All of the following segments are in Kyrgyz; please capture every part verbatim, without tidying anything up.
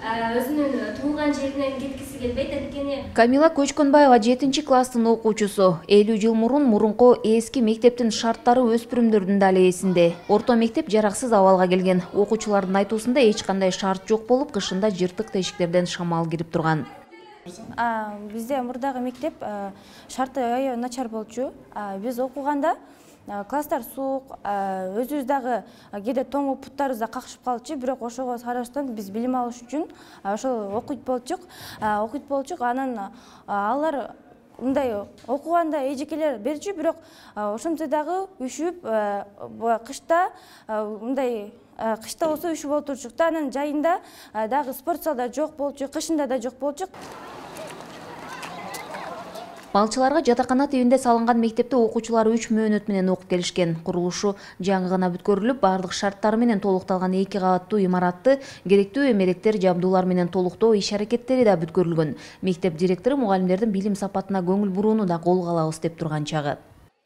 өзүнүн туулган жеринен кеткиси келбейт. Анткени Камила Көчкөнбаева жетинчи класстын окуучусу. элүү жыл мурун мурунку эски мектептин шарттары өспүрүмдөрдүн дале эсинде. Орто мектеп жараксыз абалга келген. Окуучулардын айтуусунда эч кандай шарт жок болуп, кышында жыртык тешиктерден шамал кирип турган. Бизде мурдагы мектеп шарты аябай начар болчу. Биз окуганда класстар суук, өзүбүз дагы кээде тоңуп буттарыбызда какшып калчу, бирок ошого карабастан биз билим алыш үчүн ошол окуйт болчук. Окуйт болчук, анан алар мындай окуганда эжекелер берчү, бирок ошентсе дагы үшүп, кышта мындай кышта болсо үшүп отурчук да, анан жайында дагы спорт залда жок болчу, кышында да жок болчу. Балчыларга жатакана тибинде салынган мектепте окуучулар үч мөөнөт менен окуп келишкен. Курулушу жаңы гана бүткөрүлүп, бардык шарттары менен толукталган эки кабаттуу имаратты керектүү эмеректер, жабдуулар менен толуктоо иш-аракеттери да бүткөрүлгөн. Мектеп директору мугалимдердин билим сапатына көңүл бурууну да колго алабыз деп турган чагы.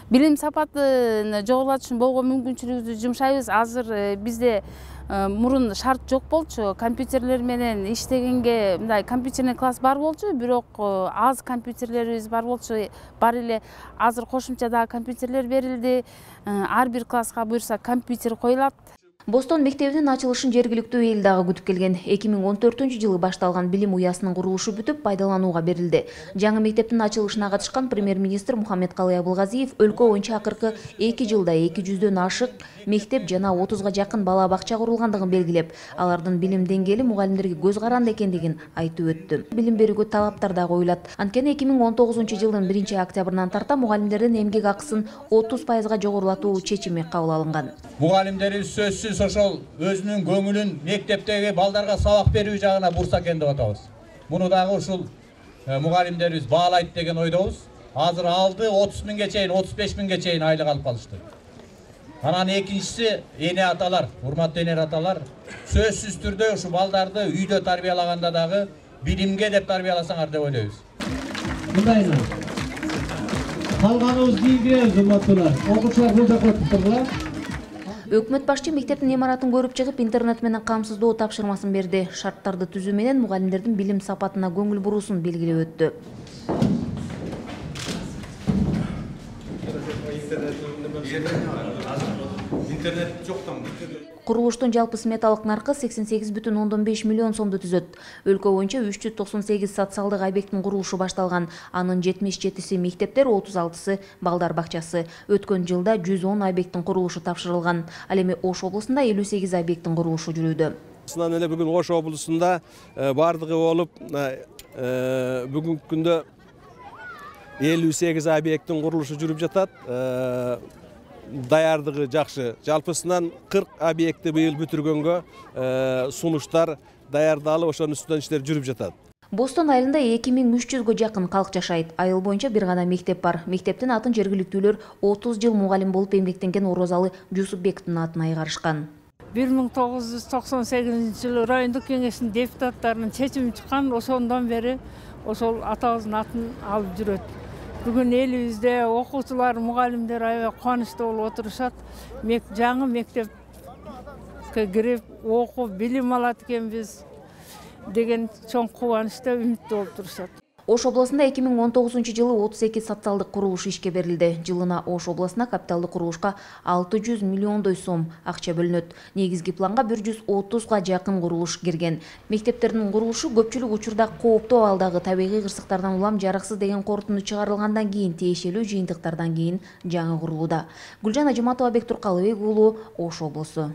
Билим сапатын жогорулатыш үчүн болгон мүмкүнчүлүгүбүздү жумшайбыз. Азыр бизде мурун шарт жок болчу, компьютерлер менен иштегенге мындай компьютерный класс бар болчу, бирок аз компьютерлерибиз бар болчу. Бар эле азыр кошумча дагы компьютерлер берилди. Ар бир класска буюрса компьютер коюлат. Бостон мектебинин ачылышын жергиликтүү эл дагы күтүп келген. эки миң он төртүнчү жылы башталган билим уясынын курулушу бүтүп, пайдаланууга берилди. Жаңы мектептин ачылышына катышкан премьер-министр Мухаммедкалый Абылгазиев өлкө боюнча акыркы эки жылда эки жүздөн ашык мектеп жана отузга жакын бала бакча курулгандыгын белгилеп, алардын билим деңгээли мугалимдерге көз каранды экендигин айтып өттү. Билим берүүгө талаптар да коюлат. Анткени эки миң он тогузунчу жылдын биринчи октябрынан тарта мугалимдердин эмгек акысын отуз пайызга жогорулатуу чечими кабыл алынган. Мугалимдерибиз сөзсүз ошол өзүнүн көңүлүн мектептеги балдарга сабак берүү жагына бурса экен деп атабыз. Муну дагы ушул мугалимдерибиз баалайт деген ойдобуз. Азыр алды отуз миңге чейин, отуз беш миңге чейин айлык алып калышты. Анан экинчиси эне аталар, урматтуу эне аталар, сөзсүз түрдө ушу балдарды үйдө тарбиялаганда дагы билимге деп тарбияласаңар деп ойлойбуз. Мындайына. Калганыбыз кийинки урматтуулар. Окуучулар бул жакка туруңар. Өкмөт башчы мектептин имаратын көрүп чыгып, интернет менен камсыздоо тапшырмасын берди. Шарттарды түзүү менен мугалимдердин билим сапатына көңүл буруусун белгилеп өттү. Интернет жоктан. Курулуштун жалпы сметалык наркы сексен сегиз бүтүн ондон беш миллион сомду түзөт. Өлкө боюнча үч жүз токсон сегиз социалдык объекттин курулушу башталган. Анын жетимиш жетиси мектептер, отуз алтысы балдар бакчасы. Өткөн жылда жүз он объекттин курулушу тапшырылган. Ал эми Ош облусунда элүү сегиз объекттин курулушу жүрүүдө. Сынан эле бүгүн Ош облусунда бардыгы болуп, бүгүнкү күндө элүү сегиз объекттин курулушу жүрүп жатат. Даярдыгы жакшы. Жалпысынан кырк объектти быйыл бүтүргөнгө сунуштар даярдалып, ошонун үстүнөн иштер жүрүп жатат. Бостон айылында эки миң үч жүзгө жакын калк жашайт. Айыл боюнча бир гана мектеп бар. Мектептин атын жергиликтүүлөр отуз жыл мугалим болуп эмгектенген Орозалы Жусупбековдун атына айгарышкан. бир миң тогуз жүз токсон сегизинчи жылы райондук кеңештин депутаттарынын чечими чыккан, ошондон бери ошол атабыздын атын алып жүрөт. Бүгүн элибизде окуучулар, мугалимдер аябай кубанычтуу болуп отурушат. Жаңы мектепке кирип, окуп, билим алат экенбиз деген чоң кубанычта, үмүттүү болуп турушат. Ош областында эки миң он тогузунчу жылы отуз эки социалдык курулуш ишке берилди. Жылына Ош областына капиталдык курулушка алты жүз миллиондой сом акча бөлүнөт. Негизги планга бир жүз отузга жакын курулуш кирген. Мектептердин курулушу көпчүлүк учурда кооптуу абалдагы табигый кырсыктардан улам жараксыз деген корутунду чыгарылгандан кийин, тиешелүү жыйынтыктардан кийин жаңы курулууда. Гүлжан Ажыматова, Бек Туркалыбек уулу, Ош облусу.